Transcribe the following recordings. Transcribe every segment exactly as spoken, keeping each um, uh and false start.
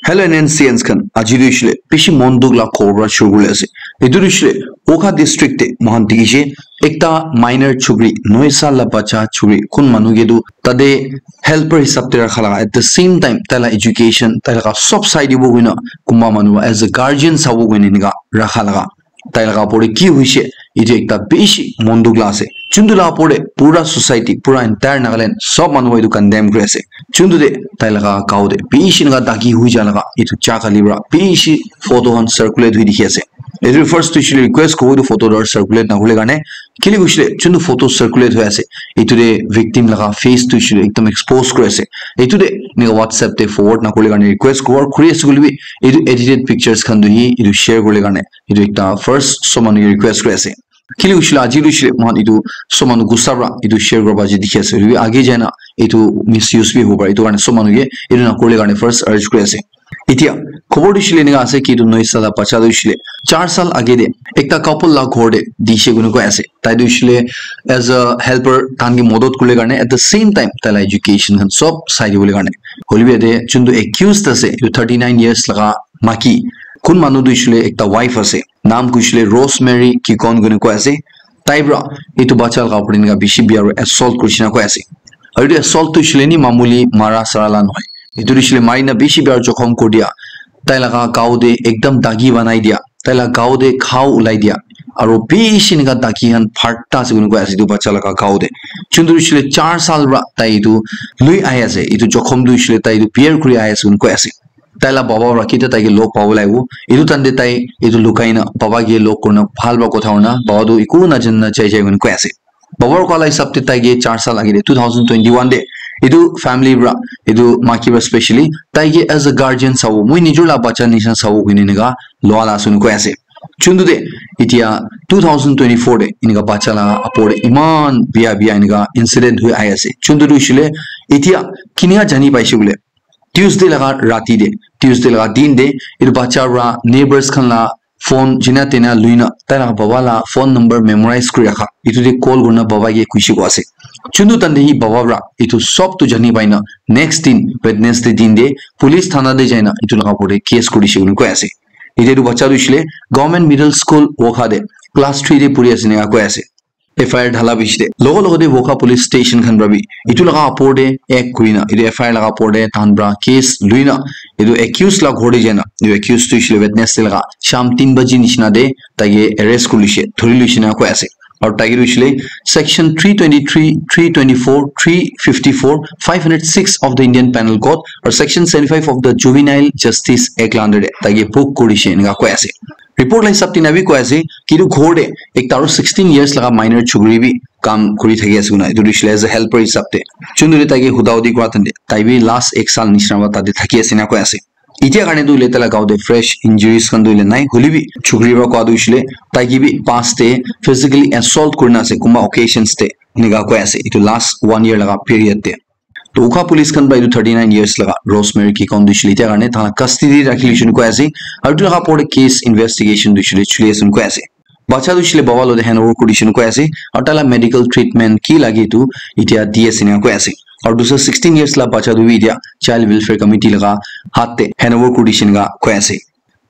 Hello N N C N khan, aji tu hoishe le bishi mon dukh la khobor para shuru kuri ase. Etu tu hoishe le Wokha district te moikhan dikhi she ekta minor chukri, noi sal la bacha chukri, kun manu ke tu tate helper hisab te rakha laga, at the same time tai la education, tai laga sob sai dibo koina kunba manu as a guardian sabo koina enika rakha laga. Tai laga opor te ki hoishe, etu ekta bishi mon dukh la ase. Chuntu la opor te pura society, pura entire Nagaland, sob manu etu condemn kuri ase. Chuntu te tai laga gao te bishi enika dagi hui ja laga etu cha kali para bishi photo khan circulate hui dikhi ase. Etu first tu hoishe le request kobo etu photo tu circulate na kuri le karne, kile hoishe le chuntu photo circulate hui ase, etu te victim laga face tu hoishe le ekdam expose kuri ase. Etu te enika WhatsApp te forward na kuri le karne request kobo, kuri ase koile bi etu edited pictures khan tu hi etu share kuri le karne etu ekta first sob manu ke request kuri ase. Kile hoishe le aji tu hoishe le moikhan etu sob manu gussa para etu share kura ba je dikhi ase. Hoile bi age jai na etu misuse bi hobo pare. Etu karne sob manu ke etu na kuri le karne first urge kuri ase. Etia khobor tu hoishe le enika ase ki etu noi sal la bacha tu hoishe le char sal age te ekta couple la ghor te dishe koina koi ase. Tai tu hoishe le as a helper tahan ke modot kuri le karne, at the same time tai la education khan sob sai dibo le karne. Hoile bi yate chuntu accused ase, etu thirty nine years laga maki, kun manu tu hoishe le ekta wife ase. Naam tu hoishe le Rosemary Kikon koina koi ase. Tai para etu bacha laga opor te enika bishi bia para assault kurishe na koi ase. Aru etu assault tu hoishe le ni mamuli mara sara la nohoi. Etu tu hoishe le mari na bishi bia para jokhom kuri dia. Tai laga gao te ekdam dagi banai dia. Tai laga gao te ghao ulai dia. Aru bishi enika dagi khan phatta ase koina koi ase etu bacha laga gao te. Chuntu tu hoishe le char sal para tai etu lui ahi ase. Etu jokhom tu hoishe le tai etu bear kuri ahi ase koina koi ase. Tai la baba para ketia tai ke log pabo lagibo. Etu time te tai etu lukai na baba ke log kurina bhal para kotha hoina baba tu eku najana jai jai koina koi ase. Baba para koa la hisab te tai ke char sal age te two thousand twenty-one te etu family para etu maki para specially tai ke as a guardian sabo, moi nijor la bacha nisina sabo koina enika loa la ase koina koi ase. Chuntu te etia two thousand twenty-four te enika bacha la opor te eman bia bia enika incident hui ahi ase. Chuntu tu hoishe le etia kinika jani paishe koile Tuesday laga rati te, Tuesday laga din te, etu bacha para neighbors khan la phone jina tena lui na, tai laga baba la phone number memorize kuri rakha. Etu te call kurina baba ke kushi ko ase. Chuntu time te hi baba para etu sob tu jani pai na, next din, Wednesday din te, police thana te jai na, etu laga opor te case kuri dishe koina koi ase. Etia etu bacha tu hoishe le Government Middle School Wokha te, class three te puri ase enika koi ase. F I R dhala bishi te logo logo te Wokha police station khan para bi etu laga opor te act kuri na, etu F I R laga opor te tahan para case lui na, etu accused la ghor te jai na, etu accused tu hoishe le Wednesday laga sham tin baji nisina te tai ke arrest kuri lishe, dhuri lishe na koi ase. Aru tai ke tu hoishe le section three twenty-three, three twenty-four, three fifty-four, five hundred six of the Indian Penal Code aru section seventy-five of the Juvenile Justice Act la under te tai ke book kuri dishe enika koi ase. Report la hisab te na bi koi ase ki etu ghor te ekta aru sixteen years laga minor chukri bi kam kuri thaki ase koina, etu tu hoishe le as a helper hisab te. Chuntu te tai ke huda hudi kura time te tai bi last ek sal nisina para tate thaki ase enika koi ase. Etia karne tu hoile tai la gao te fresh injuries khan tu hoile nai, hoile bi chukri para koa tu hoishe le tai ke bi past te physically assault kurina ase kunba occasions te, enika koi ase etu last one year laga period te. To Wokha police khan para etu thirty nine years laga Rosemary Kikon tu hoishe le etia karne tai la custody te rakhi lishe koina koi ase. Aru etu laga opor te case investigation tu hoishe le chuli ase koina koi ase. Bacha tu hoishe le baba lo te hand over kuri dishe koina koi ase. Aru tai la medical treatment ki lage etu etia di ase enika koi ase. Aru dusra sixteen years la bacha tu bi etia Child Welfare Committee laga hath te hand over kuri dishe enika koi ase.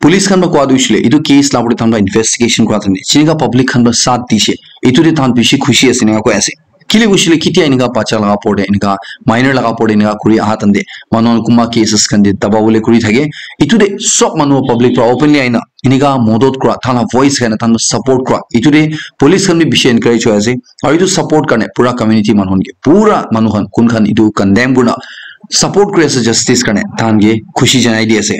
Police khan para koa tu hoishe le etu case la opor te tahan para investigation kura time te jinika public khan para saath dishe, etu te tahan bishi khushi ase enika koi ase. Kile hoishe le ketia enika bacha laga opor te enika minor laga opor te enika kuri aha time te manu khan kunba cases khan te daba bole kuri thake, etu te sob manu public para openly ahi na enika modot kura, tahan la voice khan tahan la support kura, etu te police khan bi bishi encourage hoi ase. Aru etu support karne pura community manu khan ke, pura manu khan kun khan etu condemn kurina support kuri ase justice karne, tahan ke khushi janai di ase.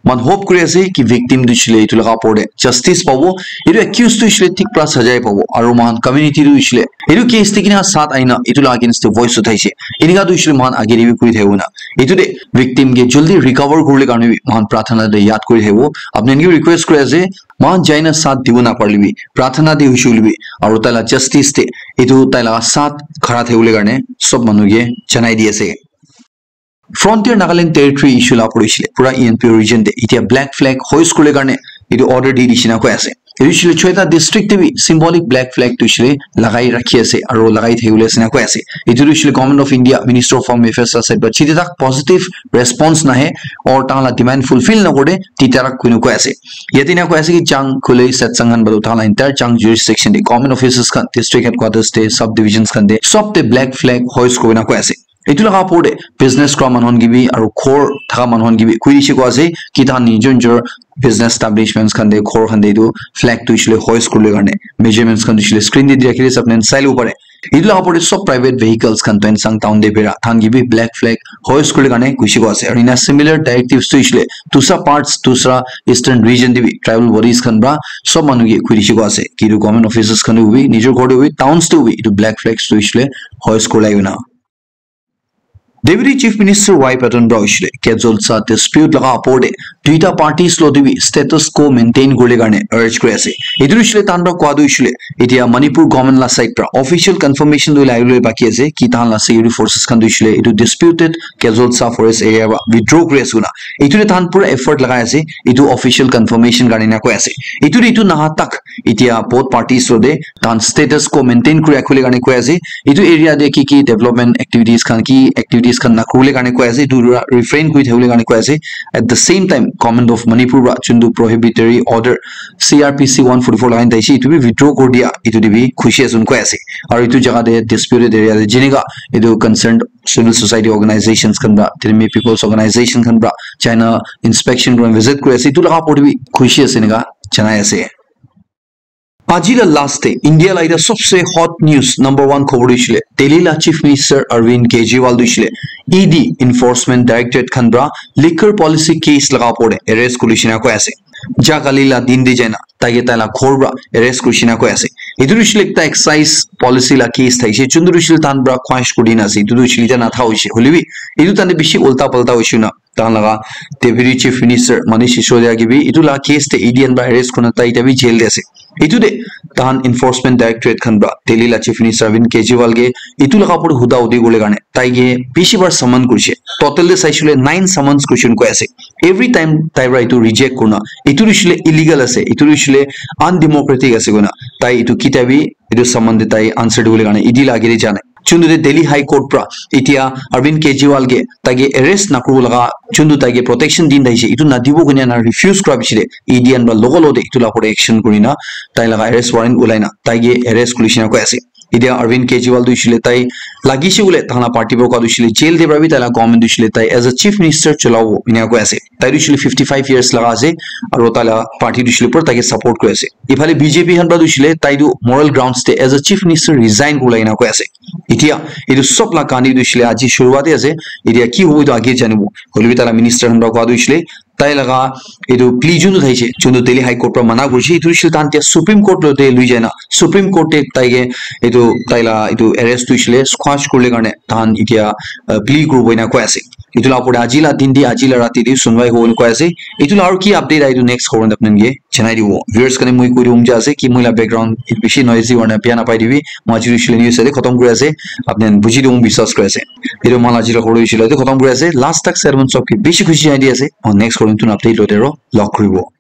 Moikhan hope kuri ase ki victim tu hoishe le etu laga opor te justice pabo, etu accused tu hoishe le thik para sajai pabo, aru moikhan community tu hoishe le etu case te kina saath ahi na etu laga against te voice uthaishe, enika tu hoishe le moikhan age te bi kuri thakibo na. Etu te victim ke jaldi recover kuribole karne bi moikhan prarthana te yaad kuri thakibo. Apni khan ke bi request kuri ase, moikhan jai na saath dibo na parile bi, prarthana te hoishe koile bi, aru tai la justice te etu tai laga saath khara thakibole karne sob manu ke janai di ase. Frontier Nagaland Territory issue la pura hoishe le, pura E N P O region te etia black flag hoist kuribole karne etu order di dishe enika koi ase. Etu hoishe le choita district te bi symbolic black flag tu hoishe le lagai rakhi ase aro lagai thaki bole ase ena koi ase. Etu tu hoishe le Government of India, Minister of Home Affairs la side para jite tak positive response nahe or tahan la demand fulfill nakore, titya rak kuina koi ase. Yate ena koi ase ki Chang, Khulei, Setsang khan badu tahan la entire Chang jurisdiction te government offices khan, district headquarters te, subdivisions khan te, sob te black flag hoist kurina koi ase. Etu laga opor te business kura manu khan ke bi aro ghor thaka manu khan ke bi koi dise koi ase ki tahan nijor nijor business establishments khan te, ghor khan te etu flag tu hoishe le hoist kuribole karne measurements khan tu hoishe le screen te di rakhi dise, apni khan sai lobo pare. Etu laga opor te sob private vehicles khan Tuensang town te bera tahan ke bi black flag hoist kuribole karne koi dise koi ase. Aru ena similar directives tu hoishe le dusra parts, dusra eastern region te bi tribal bodies khan para sob manu ke koi dise koi ase ki etu government offices khan te hobi, nijor ghor te hobi, towns te hobi, etu black flags tu hoishe le hoist kuribole karne. Deputy Chief Minister Y Patton para hoishe le Kedzolsa dispute laga opor te duita parties lo te bi status quo maintain kuribole karne urge kuri ase. Etu hoishe le tahan para koa tu hoishe le etia Manipur government la side para official confirmation tu hoile ahibole baki ase ki tahan la security forces khan tu hoishe le etu disputed Kedzolsa forest area para withdraw kuri ase koina. Etu te tahan pura effort lagai ase etu official confirmation karne ena koi ase. Etu te etu naha tak etia both parties lo te tahan status quo maintain kuri rakhibole karne koi ase. Etu area te ki ki development activities khan, ki activities khan nakuribole karne koi ase, etu para refrain kuri thakibole karne koi ase. At the same time, Government of Manipur para juntu prohibitory order C R P C one forty-four lagai na thakishe, etu bi withdraw kuri dia, etu te bi khushi ase koina koi ase. Aru etu jaga te disputed area te jenika etu concerned civil society organizations khan para, Tirimi People's Organization khan para China inspection kuri visit kuri ase, etu laga opor te bi khushi ase enika janai ase. Aji la last te India la ita sobse hot news number one khobor hoishe le Delhi la Chief Minister Arvind Kejriwal tu hoishe le E D, Enforcement Directorate khan para liquor policy case laga opor te arrest kuri dise koina koi ase. Ja kali la din te jaina taike taila ghor para arrest kuri dise koina koi ase. Etu tu hoishe le ekta excise policy la case thakishe, juntu tu hoishe le tahan para quash kuri dina ase, etu tu hoishe le ita natha hoishe, hoile bi etu tahan te bishi ulta palta hoishe na tahan laga Deputy Chief Minister Manish Sisodia ke bi etu la case te E D khan para arrest kurina tai ita bi jail te ase. Etu te tahan Enforcement Directorate khan para Delhi la Chief Minister Arvind Kejriwal ke etu laga opor te huda hudi kuribole karne tai ke bishi bar summon kurishe. Total te saishe le nine summons kurishe koina koi ase. Every time tai para etu reject kurina, etu tu hoishe le illegal ase, etu tu hoishe le undemocratic ase koina tai etu kitia bi etu summon te tai answer dibole karne E D la age te ja nai. Juntu te Delhi High Court para etia Arvind Kejriwal ke taike arrest nakuribo laga juntu taike protection din thakishe, etu nadibo koina na refuse kura piche te E D khan para logo logo te etu la opor te action kurina tai laga arrest warrant ulai na taike arrest kuri dise koina koi ase. Etia Arvind Kejriwal tu hoishe le tai lagishe koile tahan la party para koa tu hoishe le jail te para bi taila government tu hoishe le tai as a chief minister cholabo enika koi ase. Tai tu hoishe le fifty five years laga ase aru taila party tu hoishe le pura taike support kuri ase. Ephale B J P khan para tu hoishe le tai tu moral grounds te as a chief minister resign kuribole enika koi ase. Etia etu sob la kahani tu hoishe le aji shuruwat te ase. Etia ki hobo etu age janibo. Hoile bi taila minister khan para koa tu hoishe le tai laga etu plea juntu thakishe, juntu Delhi High Court para mana kurishe, etu hoishe le tahan tia Supreme Court lo te lui jai na, Supreme Court te taike etu taila etu arrest tu hoishe le squash kuribole karne tahan etia, uh, plea kuribo enika koi ase. Etu la opor te aji la din te, aji la rati te sunwai hobo enika koi ase. Etu la aru ki update ahe etu next khobor te apni khan ke janai dibo. Viewers karne moi koi dibo mon jai ase ki moi la background bishi noisy hoina bia napai dibi. Moi aji hoishe le news ite khotom kuri ase. Apni khan buji dibo mon biswas kuri ase. Video moi la aji la khobor hoishe le ite khotom kuri ase. Last tak sermon sob ke bishi khushi janai di ase. Aru next khobor te notun update loite aro log kuribo.